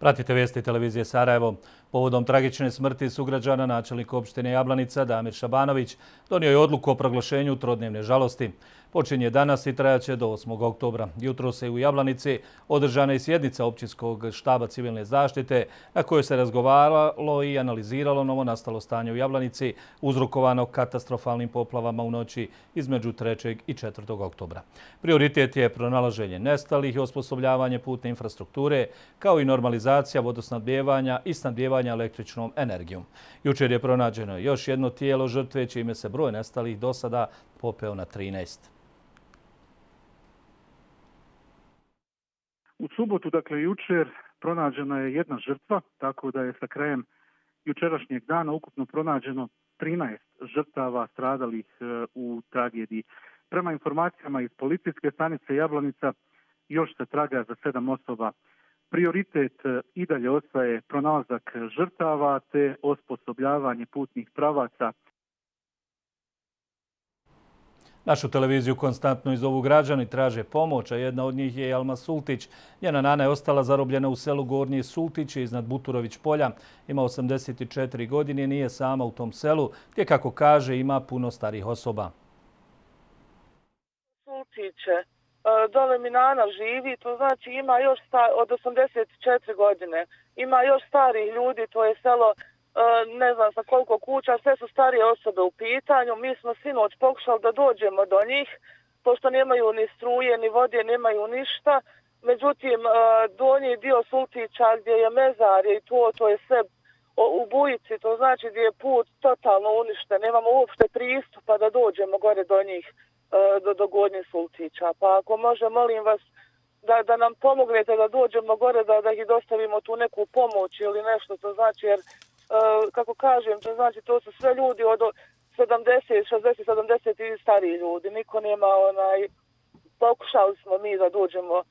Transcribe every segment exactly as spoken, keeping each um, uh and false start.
Pratite vijesti televizije Sarajevo. Povodom tragične smrti sugrađana načelnik opštine Jablanica Damir Šabanović donio je odluku o proglašenju trodnevne žalosti. Počinje danas i trajaće do osmog oktobra. Jutro se u Jablanici održana i sjednica općinskog štaba civilne zaštite na kojoj se razgovaralo i analiziralo novonastalo stanje u Jablanici uzrokovano katastrofalnim poplavama u noći između trećeg i četvrtog oktobra. Prioritet je pronalaženje nestalih i osposobljavanje putne infrastrukture, kao i normalizacija vodosnabdijevanja i snabdijevanja električnom energijom. Jučer je pronađeno još jedno tijelo žrtve, čime se broj nestalih do sada popeo na trinaest. U subotu, dakle jučer, pronađena je jedna žrtva, tako da je sa krajem jučerašnjeg dana ukupno pronađeno trinaest žrtava stradalih u tragediji. Prema informacijama iz policijske stanice Jablanica, još se traga za sedam osoba. Prioritet i dalje ostaje pronalazak žrtava te osposobljavanje putnih pravaca. Našu televiziju konstantno izovu građani, traže pomoć, a jedna od njih je Alma Sultić. Njena nana je ostala zarobljena u selu Gornji Sultić iznad Buturović polja. Ima osamdeset četiri godine i nije sama u tom selu, gdje, kako kaže, ima puno starih osoba. Sultiće, dole mi nana živi, to znači ima još od osamdeset četiri godine. Ima još starih ljudi, to je selo ne znam sa koliko kuća, sve su starije osobe u pitanju. Mi smo sinoć pokušali da dođemo do njih, pošto nemaju ni struje, ni vode, nemaju ništa. Međutim, donji dio Sultića gdje je mezar i to, to je sve u bujici, to znači gdje je put totalno uništen. Nemamo uopšte pristupa da dođemo gore do njih, do, do Gornje Sultića. Pa ako može, molim vas da, da nam pomognete da dođemo gore, da, da ih dostavimo tu neku pomoć ili nešto, to znači jer kako kažem, to znači to su sve ljudi od sedamdeset, šezdeset, sedamdeset i stariji ljudi. Niko nema onaj, pokušali smo mi da dođemo uh,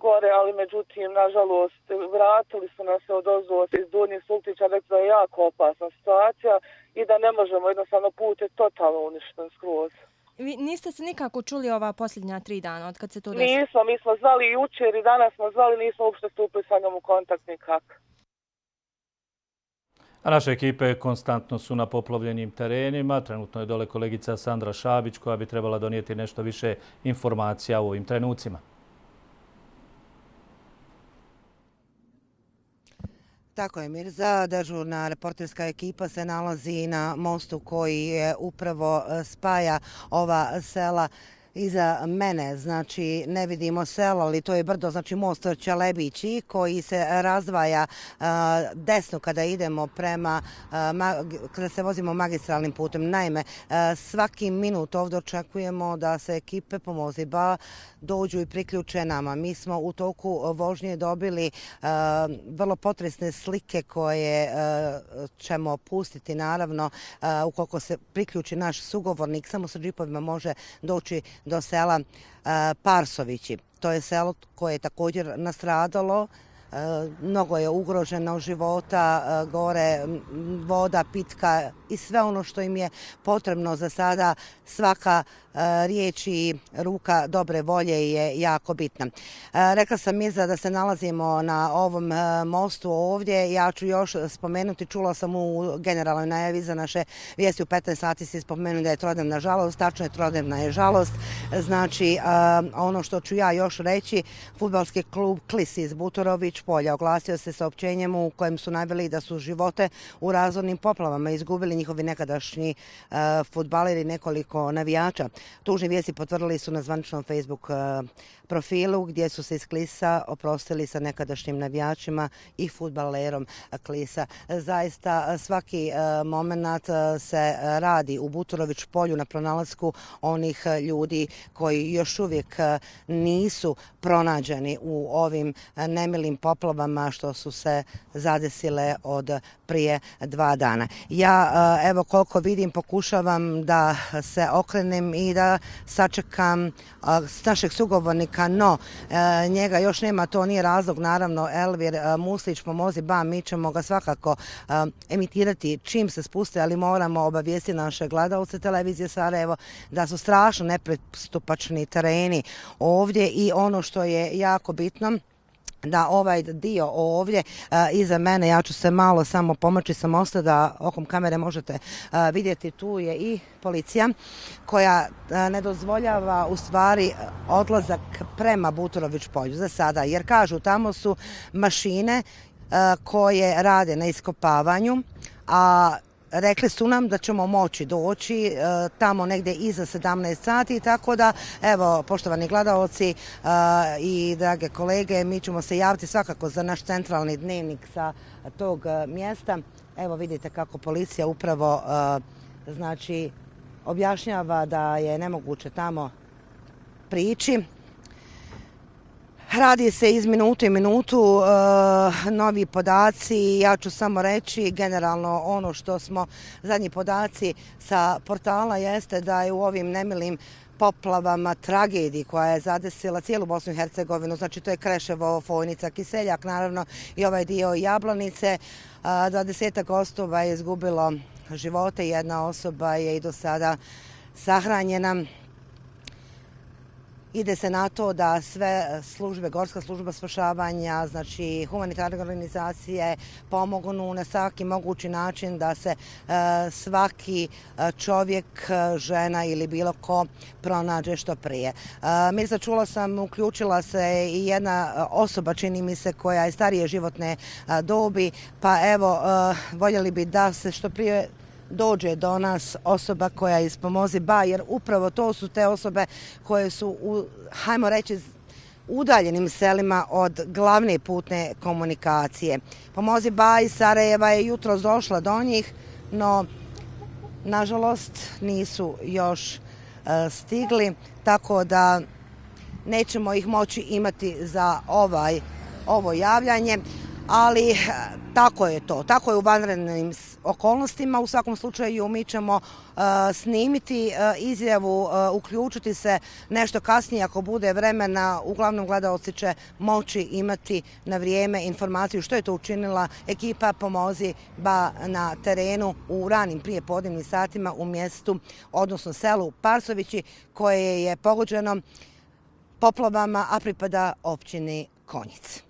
gore, ali međutim, nažalost, vratili su nas se od ozdo iz Donjih Sultića, rekli da je jako opasna situacija i da ne možemo, jednostavno put je totalno uništen skroz. Vi niste se nikako čuli ova posljednja tri dana od kad se to desilo? Nismo, mi smo zvali jučer i danas smo zvali, nismo uopšte stupili sa njom u kontakt nikak. A naše ekipe konstantno su na poplavljenim terenima. Trenutno je dole kolegica Sandra Šabić koja bi trebala donijeti nešto više informacija u ovim trenucima. Tako je, Mirza. Dežurna reporterska ekipa se nalazi na mostu koji je upravo spaja ova sela. Iza mene, znači, ne vidimo selo, ali to je brdo, znači most Čelebići koji se razdvaja uh, desno kada idemo prema, uh, kada se vozimo magistralnim putem. Naime, uh, svaki minut ovdje očekujemo da se ekipe Pomoziba dođu i priključe nama. Mi smo u toku vožnje dobili uh, vrlo potresne slike koje uh, ćemo pustiti, naravno, uh, ukoliko se priključi naš sugovornik, samo sa džipovima može doći do sela Parsovići. To je selo koje je također nastradalo. Mnogo je ugroženo života, gore voda, pitka i sve ono što im je potrebno za sada. Svaka riječ i ruka dobre volje je jako bitna. Rekla sam Mirza da se nalazimo na ovom mostu ovdje. Ja ću još spomenuti, čula sam u generalnoj najavi za naše vijesti u petnaest sati se spomenuti da je trodnevna žalost. Tačno je, trodnevna je žalost. Znači, ono što ću ja još reći, fudbalski klub Klis iz Buturović polja oglasio se saopćenjem u kojem su naveli da su živote u razornim poplavama izgubili njihovi nekadašnji uh, fudbaleri, nekoliko navijača. Tužne vijesti potvrdili su na zvaničnom Facebook uh, profilu gdje su se iz Klisa oprostili sa nekadašnjim navijačima i fudbalerom Klisa. Zaista svaki uh, moment uh, se radi u Buturović polju na pronalasku onih uh, ljudi koji još uvijek uh, nisu pronađeni u ovim uh, nemilim poplavama što su se zadesile od prije dva dana. Ja, evo koliko vidim, pokušavam da se okrenem i da sačekam našeg sugovornika, no njega još nema, to nije razlog, naravno. Elvir Muslić, Pomozi Ba, mi ćemo ga svakako emitirati čim se spuste, ali moramo obavijesti naše gledalce televizije Sarajevo da su strašno nepristupačni tereni ovdje i ono što je jako bitno, da ovaj dio ovdje a, iza mene, ja ću se malo samo pomoći sa mosta da okom kamere možete a, vidjeti, tu je i policija koja a, ne dozvoljava u stvari odlazak prema Buturović polju za sada, jer kažu tamo su mašine a, koje rade na iskopavanju, a rekli su nam da ćemo moći doći e, tamo negdje iza sedamnaest sati, tako da, evo, poštovani gledaoci e, i drage kolege, mi ćemo se javiti svakako za naš centralni dnevnik sa tog e, mjesta. Evo vidite kako policija upravo e, znači objašnjava da je nemoguće tamo prići. Radi se iz minutu i minutu, e, novi podaci, ja ću samo reći generalno ono što smo, zadnji podaci sa portala jeste da je u ovim nemilim poplavama, tragediji koja je zadesila cijelu Bosnu i Hercegovinu, znači to je Kreševo, Fojnica, Kiseljak, naravno i ovaj dio Jablanice, dvadesetak osoba je izgubilo živote, jedna osoba je i do sada sahranjena. Ide se na to da sve službe, Gorska služba spašavanja, znači humanitarne organizacije pomognu na svaki mogući način da se e, svaki čovjek, žena ili bilo ko pronađe što prije. E, Mirza, čula sam, uključila se i jedna osoba, čini mi se, koja je starije životne dobi, pa evo, e, voljeli bi da se što prije dođe do nas osoba koja iz Pomozi Ba, jer upravo to su te osobe koje su, u, hajmo reći, udaljenim selima od glavne putne komunikacije. Pomozi Ba iz Sarajeva je jutros došla do njih, no nažalost nisu još uh, stigli, tako da nećemo ih moći imati za ovaj, ovo javljanje. Ali tako je to, tako je u vanrednim okolnostima. U svakom slučaju mi ćemo uh, snimiti uh, izjavu, uh, uključiti se nešto kasnije ako bude vremena. Uglavnom gledaoci će moći imati na vrijeme informaciju što je to učinila ekipa Pomozi Ba na terenu u ranim prijepodnevnim satima u mjestu, odnosno selu Parsovići, koje je pogođeno poplavama, a pripada općini Konjic.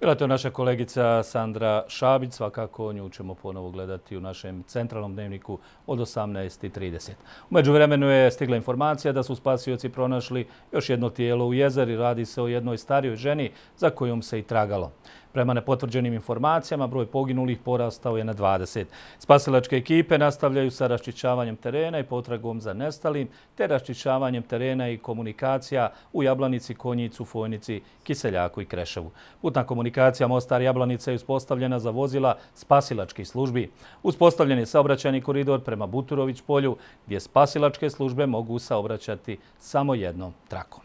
Bila je to naša kolegica Sandra Šabić, svakako nju ćemo ponovo gledati u našem centralnom dnevniku od osamnaest i trideset. U međuvremenu je stigla informacija da su spasioci pronašli još jedno tijelo u jezeri. Radi se o jednoj starijoj ženi za kojom se i tragalo. Prema nepotvrđenim informacijama, broj poginulih porastao je na dvadeset. Spasilačke ekipe nastavljaju sa raščišćavanjem terena i potragom za nestalim, te raščišćavanjem terena i komunikacija u Jablanici, Konjicu, Fojnici, Kiseljaku i Kreševu. Putna komunikacija Mostar-Jablanica je uspostavljena za vozila spasilačkih službi. Uspostavljen je saobraćajni koridor prema Buturović polju, gdje spasilačke službe mogu saobraćati samo jednom trakom.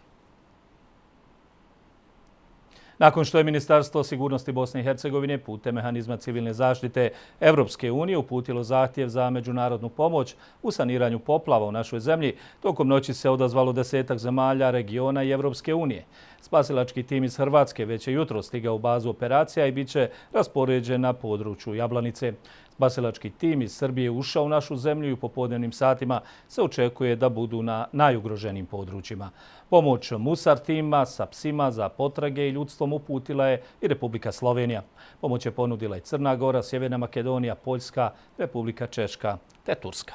Nakon što je Ministarstvo sigurnosti Bosne i Hercegovine putem mehanizma civilne zaštite Evropske unije uputilo zahtjev za međunarodnu pomoć u saniranju poplava u našoj zemlji, tokom noći se odazvalo desetak zemalja, regiona i Evropske unije. Spasilački tim iz Hrvatske već je jutro stigao u bazu operacija i bit će raspoređen na području Jablanice. Spasilački tim iz Srbije ušao u našu zemlju i u popodnevnim satima se očekuje da budu na najugroženijim područjima. Pomoć Musar tima sa psima za potrage i ljudstvom uputila je i Republika Slovenija. Pomoć je ponudila i Crna Gora, Sjeverna Makedonija, Poljska, Republika Češka te Turska.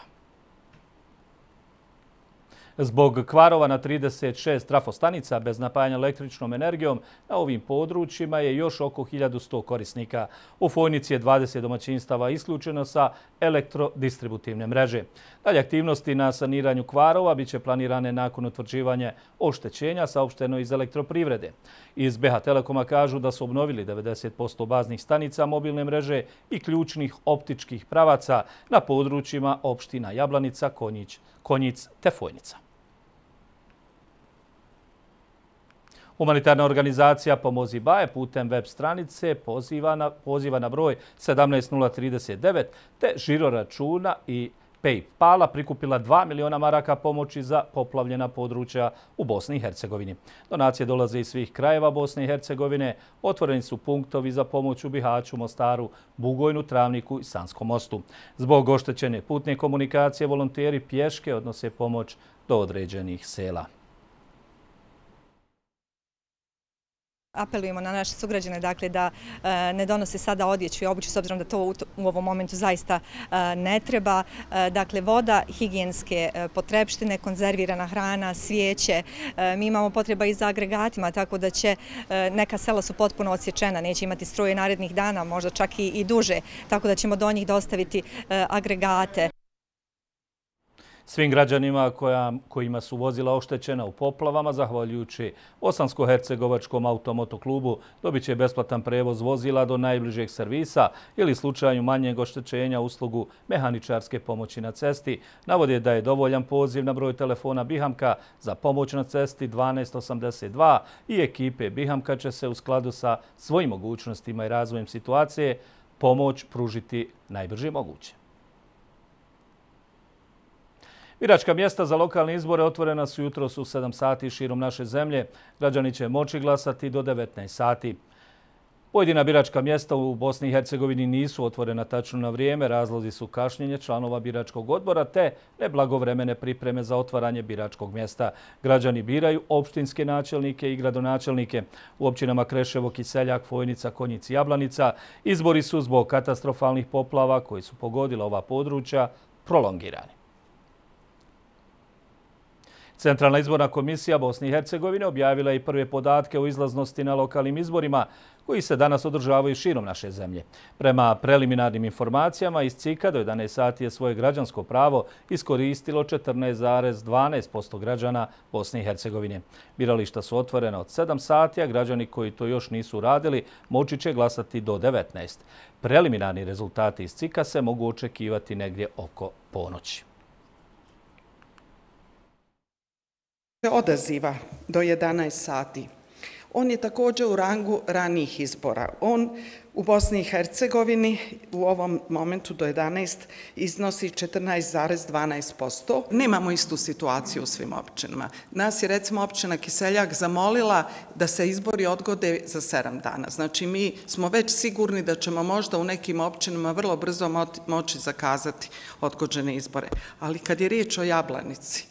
Zbog kvarova na trideset šest trafostanica bez napajanja električnom energijom na ovim područjima je još oko hiljadu sto korisnika. U Fojnici je dvadeset domaćinstava isključeno sa elektrodistributivne mreže. Dalje aktivnosti na saniranju kvarova bit će planirane nakon utvrđivanja oštećenja, saopšteno iz elektroprivrede. Iz B H Telekoma kažu da su obnovili devedeset posto baznih stanica mobilne mreže i ključnih optičkih pravaca na područjima opština Jablanica, Konjić, Konjic te Fojnica. Humanitarna organizacija Pomozi Ba je putem web stranice poziva na, poziva na broj sedamnaest nula trideset devet te žiro računa i PayPala prikupila dva miliona maraka pomoći za poplavljena područja u Bosni i Hercegovini. Donacije dolaze iz svih krajeva Bosne i Hercegovine. Otvoreni su punktovi za pomoć u Bihaću, Mostaru, Bugojnu, Travniku i Sanskom mostu. Zbog oštećene putne komunikacije volonteri pješke odnose pomoć do određenih sela. Apelujemo na naše sugrađane dakle, da ne donose sada odjeću i obuću s obzirom da to u ovom momentu zaista ne treba. Dakle, voda, higijenske potrepštine, konzervirana hrana, svijeće. Mi imamo potreba i za agregatima, tako da će neka sela su potpuno odsječena, neće imati struje narednih dana, možda čak i duže, tako da ćemo do njih dostaviti agregate. Svim građanima kojima su vozila oštećena u poplavama, zahvaljujući Bosansko-hercegovačkom automotoklubu, dobit će besplatan prevoz vozila do najbližeg servisa ili slučaju manjeg oštećenja uslugu mehaničarske pomoći na cesti. Navode da je dovoljan poziv na broj telefona Bihamka za pomoć na cesti dvanaest osamdeset dva i ekipe Bihamka će se u skladu sa svojim mogućnostima i razvojem situacije pomoć pružiti najbrže moguće. Biračka mjesta za lokalne izbore otvorena su jutros u sedam sati širom naše zemlje. Građani će moći glasati do devetnaest sati. Pojedina biračka mjesta u Bosni i Hercegovini nisu otvorena tačno na vrijeme. Razlozi su kašnjenje članova biračkog odbora te neblagovremene pripreme za otvaranje biračkog mjesta. Građani biraju opštinske načelnike i gradonačelnike. U općinama Kreševo, Kiseljak, Fojnica, Konjic i Jablanica izbori su zbog katastrofalnih poplava koji su pogodila ova područja prolongirani. Centralna izborna komisija Bosne i Hercegovine objavila je i prve podatke o izlaznosti na lokalnim izborima koji se danas održavaju širom naše zemlje. Prema preliminarnim informacijama iz C I K-a do jedanaest sati je svoje građansko pravo iskoristilo četrnaest zarez dvanaest posto građana Bosne i Hercegovine. Birališta su otvorena od sedam sati, a građani koji to još nisu radili moći će glasati do devetnaest. Preliminarni rezultati iz C I K-a se mogu očekivati negdje oko ponoći. Odaziva do jedanaest sati. On je također u rangu ranijih izbora. On u Bosni i Hercegovini u ovom momentu do jedanaest iznosi četrnaest zarez dvanaest posto. Nemamo istu situaciju u svim općinama. Nas je recimo općina Kiseljak zamolila da se izbori odgode za sedam dana. Znači mi smo već sigurni da ćemo možda u nekim općinama vrlo brzo moći zakazati odgođene izbore. Ali kad je riječ o Jablanici,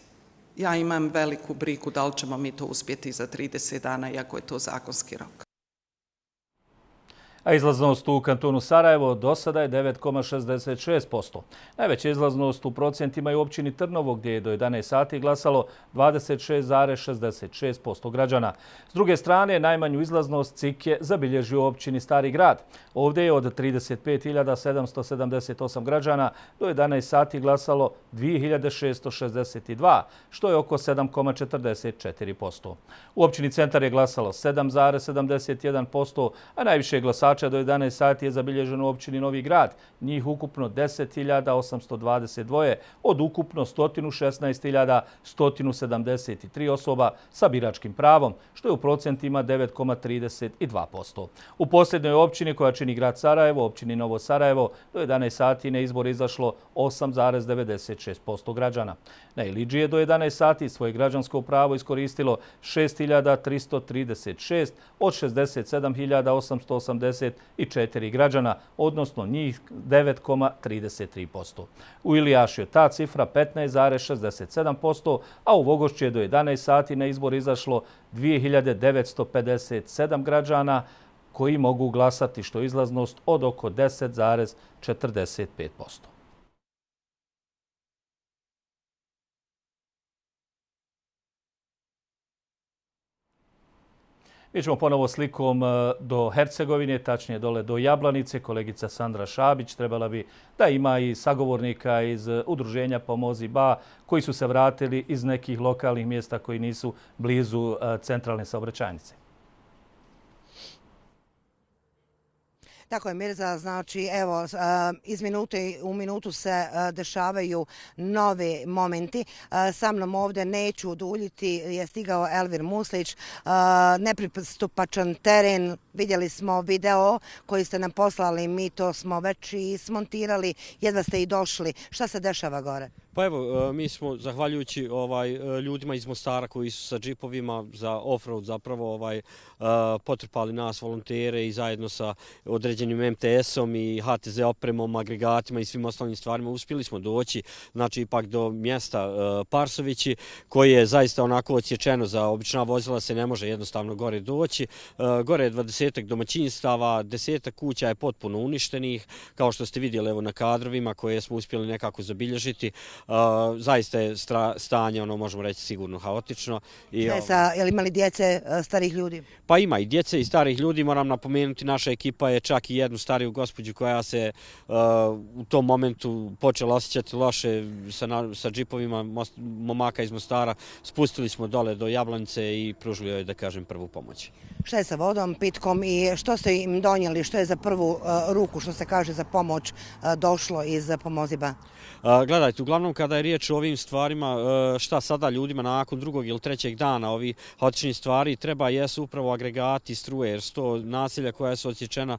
ja imam veliku brigu da li ćemo mi to uspjeti za trideset dana, iako je to zakonski rok. A izlaznost u kantonu Sarajevo do sada je devet zarez šezdeset šest posto. Najveća izlaznost u procentima je u općini Trnovo, gdje je do jedanaest sati glasalo dvadeset šest zarez šezdeset šest posto građana. S druge strane, najmanju izlaznost C I K je zabilježio u općini Stari grad. Ovdje je od trideset pet hiljada sedamsto sedamdeset osam građana do jedanaest sati glasalo dvije hiljade šessto šezdeset dva, što je oko sedam zarez četrdeset četiri posto. U općini Centar je glasalo sedam zarez sedamdeset jedan posto, a najviše glasača do jedanaest sati je zabilježeno u općini Novi grad, njih ukupno deset hiljada osamsto dvadeset dva od ukupno sto šesnaest hiljada sto sedamdeset tri osoba sa biračkim pravom, što je u procentima devet zarez trideset dva posto. U posljednjoj općini koja čini grad Sarajevo, općini Novo Sarajevo, do jedanaest sati na izbor izašlo osam zarez devedeset šest posto građana. Na Iliđi je do jedanaest sati svoje građansko pravo iskoristilo šest hiljada tristo trideset šest od šezdeset sedam hiljada osamsto osamdeset četiri građana, odnosno njih devet zarez trideset tri posto. U Ilijašu je ta cifra petnaest zarez šezdeset sedam posto, a u Vogošću je do jedanaest sati na izbor izašlo dvije hiljade devetsto pedeset sedam građana koji mogu glasati, što je izlaznost od oko deset zarez četrdeset pet posto. Mi ćemo ponovo slikom do Hercegovine, tačnije dole do Jablanice. Kolegica Sandra Šabić trebala bi da ima i sagovornika iz udruženja Pomozi Ba koji su se vratili iz nekih lokalnih mjesta koji nisu blizu centralne saobraćajnice. Tako je, Mirza, znači evo iz minute u minutu se dešavaju novi momenti. Sa mnom ovdje neću uduljiti, je stigao Elvir Muslić, nepristupačan teren. Vidjeli smo video koji ste nam poslali, mi to smo već i smontirali, jedva ste i došli. Šta se dešava gore? Pa evo, mi smo, zahvaljujući ovaj, ljudima iz Mostara koji su sa džipovima za off-road zapravo ovaj, potrpali nas, volontere i zajedno sa određenim određenim em te esom i ha te ze opremom, agregatima i svim ostalim stvarima uspjeli smo doći, znači ipak do mjesta Parsovići, koji je zaista onako odsječeno za obična vozila, se ne može jednostavno gore doći. Gore je dvadesetak domaćinstava, desetak kuća je potpuno uništenih, kao što ste vidjeli evo na kadrovima koje smo uspjeli nekako zabilježiti. Zaista je stanje, ono možemo reći, sigurno haotično. Šta je sa, je li imali djece, starih ljudi? Pa ima i djece i starih ljudi, moram napomenuti, naša ekipa je čak i jednu stariju gospođu koja se u tom momentu počela osjećati loše sa džipovima momaka iz Mostara. Spustili smo dole do Jablanice i pružili joj, da kažem, prvu pomoć. Šta je sa vodom, pitkom i što ste im donijeli, što je za prvu ruku, što se kaže za pomoć, došlo iz Pomoziba? Gledajte, uglavnom kada je riječ o ovim stvarima, šta sada ljudima nakon drugog ili trećeg dana ovih haotičnih stvari treba jesu upravo agregati struje, jer sto naselja koja su odsječena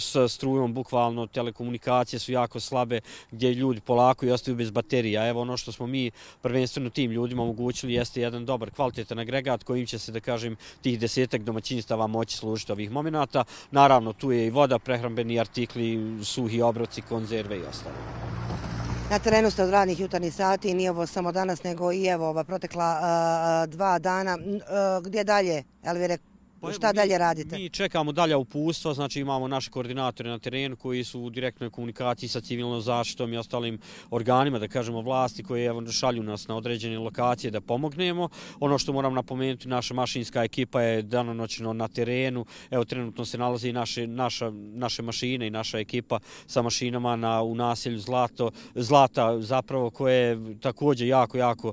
sa strujom, bukvalno telekomunikacije su jako slabe, gdje ljudi polako i ostaju bez baterija. Evo ono što smo mi prvenstveno tim ljudima omogućili jeste jedan dobar, kvalitetan agregat kojim će se, da kažem, tih desetak domaćinstava moći služiti ovih momenata. Naravno, tu je i voda, prehrambeni artikli, suhi obroci, konzerve i ostalo. Na terenu ste od radnih jutarnjih sati, nije ovo samo danas, nego i evo ova protekla dva dana. Gdje dalje, Elvire? Šta dalje radite? Mi čekamo dalje uputstva, znači imamo naše koordinatore na terenu koji su u direktnoj komunikaciji sa civilnom zaštitom i ostalim organima, da kažemo vlasti, koje šalju nas na određene lokacije da pomognemo. Ono što moram napomenuti, naša mašinska ekipa je danonoćno na terenu. Evo, trenutno se nalazi naše, naša, naše mašine i naša ekipa sa mašinama na, u naselju Zlato, Zlata, zapravo koje je također jako, jako,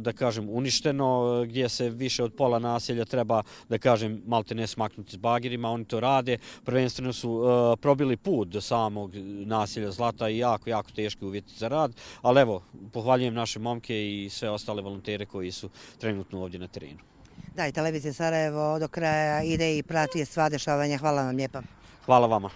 da kažem, uništeno, gdje se više od pola naselja treba, da kažem, malte ne smaknuti s bagerima, oni to rade. Prvenstveno su uh, probili put do samog naselja Zlata i jako, jako teški uvjeti za rad, ali evo, pohvaljujem naše momke i sve ostale volontere koji su trenutno ovdje na terenu. Da, i televizija Sarajevo do kraja ide i prati sva dešavanja. Hvala vam lijepa. Hvala vama.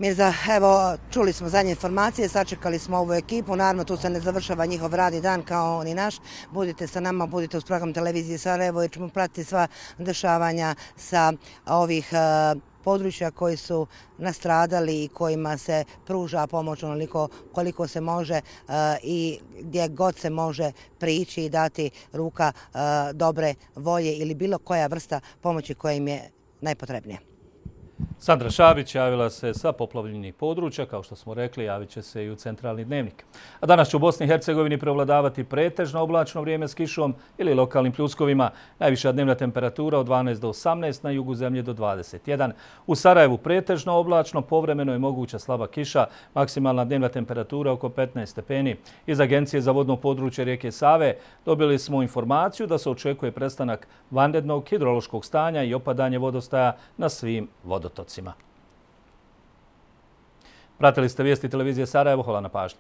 Mirza, evo, čuli smo zadnje informacije, sačekali smo ovu ekipu, naravno tu se ne završava njihov radni dan kao ni naš. Budite sa nama, budite uz program televizije Sarajevo jer ćemo pratiti sva dešavanja sa ovih uh, područja koji su nastradali i kojima se pruža pomoć onoliko koliko se može uh, i gdje god se može prići i dati ruka uh, dobre volje ili bilo koja vrsta pomoći koja im je najpotrebnija. Sandra Šabić javila se sa poplavljenih područja, kao što smo rekli, javit će se i u centralni dnevnik. A danas će u Bosni i Hercegovini prevladavati pretežno oblačno vrijeme s kišom ili lokalnim pljuskovima. Najviša dnevna temperatura od dvanaest do osamnaest, na jugu zemlje do dvadeset jedan. U Sarajevu pretežno oblačno, povremeno je moguća slaba kiša, maksimalna dnevna temperatura oko petnaest stepeni. Iz Agencije za vodno područje rijeke Save dobili smo informaciju da se očekuje prestanak vanrednog hidrološkog stanja i opadanje vodostaja na svim vodotocima. Pratili ste vijesti televizije Sarajevo, hvala na pažnji.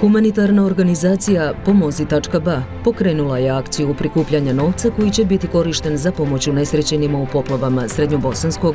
Humanitarna organizacija Pomozi tačka ba pokrenula je akciju prikupljanja novca koji će biti korišten za pomoć unesrećenima u poplavama Srednjobosanskog,